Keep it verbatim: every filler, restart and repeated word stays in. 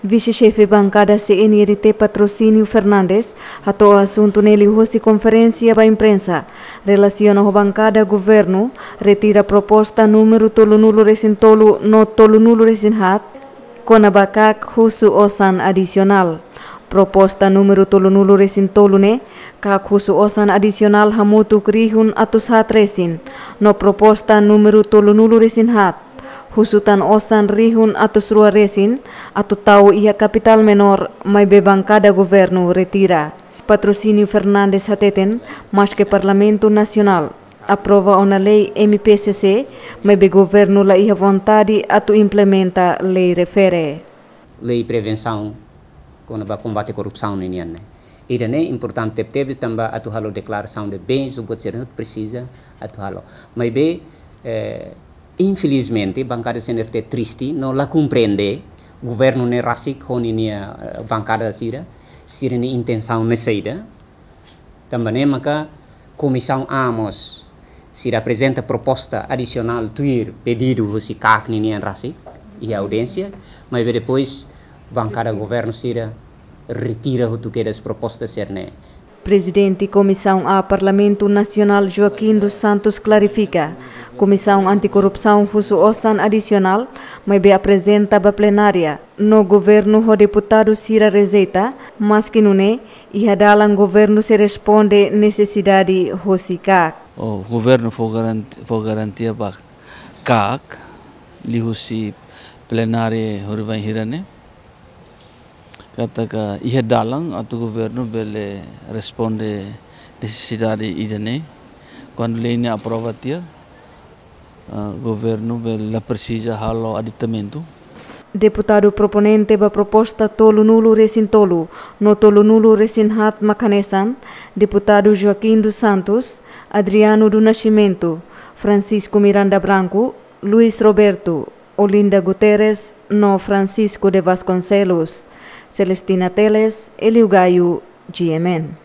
Vise-Xefe Bankada C N R T Patrocínio Fernandes hato'o asuntu ne'e liuhosi konferénsia ba imprensa relasiona ho bankada governu retira proposta númeru tolunulu resin tolu no tolunulu resin haat kona-ba KAK husu osan adisionál. Proposta númeru tolunulu resin tolu ne'e, KAK husu osan adisionál hamutuk rihun atus haat resin, no proposta númeru tolunulu resin haat husu tan osan rihun atus rua resin, atu tau iha kapitál menór, maibé bankada governu retira. Patrocínio Fernandes hateten, maske Parlamentu Nasionál aprova ona lei M P C C, maibé governu la iha vontade atu implementa lei refere. Lei prevensaun kona-ba kombate korrupsaun ninian ne'e. Ida-ne'e importante tebes tanba atu halo deklarasaun de bens, ou buat sira presiza atu halo. Maibé, eh, infelizmente, bankada C N R T triste, no la komprende, governu ne'e rasik ho ninia, eh, bankada sira, sira-nia intensaun ne'e saida. Tanba ne'e maka Komisaun A mós sira aprezenta proposta adisionál tuir pedidu husi KAK ninian rasik iha audiénsia, maibé depois bankada governu sira retira hotu kedas proposta sira-ne'e. Prezidente Komisaun A Parlamentu Nasionál Joaquim dos Santos klarifika, Komisaun Antikorrupsaun husu osan adisionál, maibé aprezenta ba plenária, no governu ho deputadu sira rejeita, maske nune'e, iha dalan governu sei responde nesesidade hosi KAK. O governu fó garanti-, fó garantia ba KAK, liuhusi plenária horibainhira ne'e, katak iha dalan atu governu bele responde nesesidade ida-ne'e. Kuandu lei ne'e aprova tiha, ah, governu bele la presiza halo aditamentu. Deputadu proponente ba proposta tolunulu resin tolu no tolunulu resin haat mak hanesan, Deputadu Joaquim dos Santos, Adriano do Nascimento, Francisco Miranda Branco, Luis Roberto, Olinda Guterres no Francisco de Vasconcelos. Celestina Teles, Elio Gaio, G M N.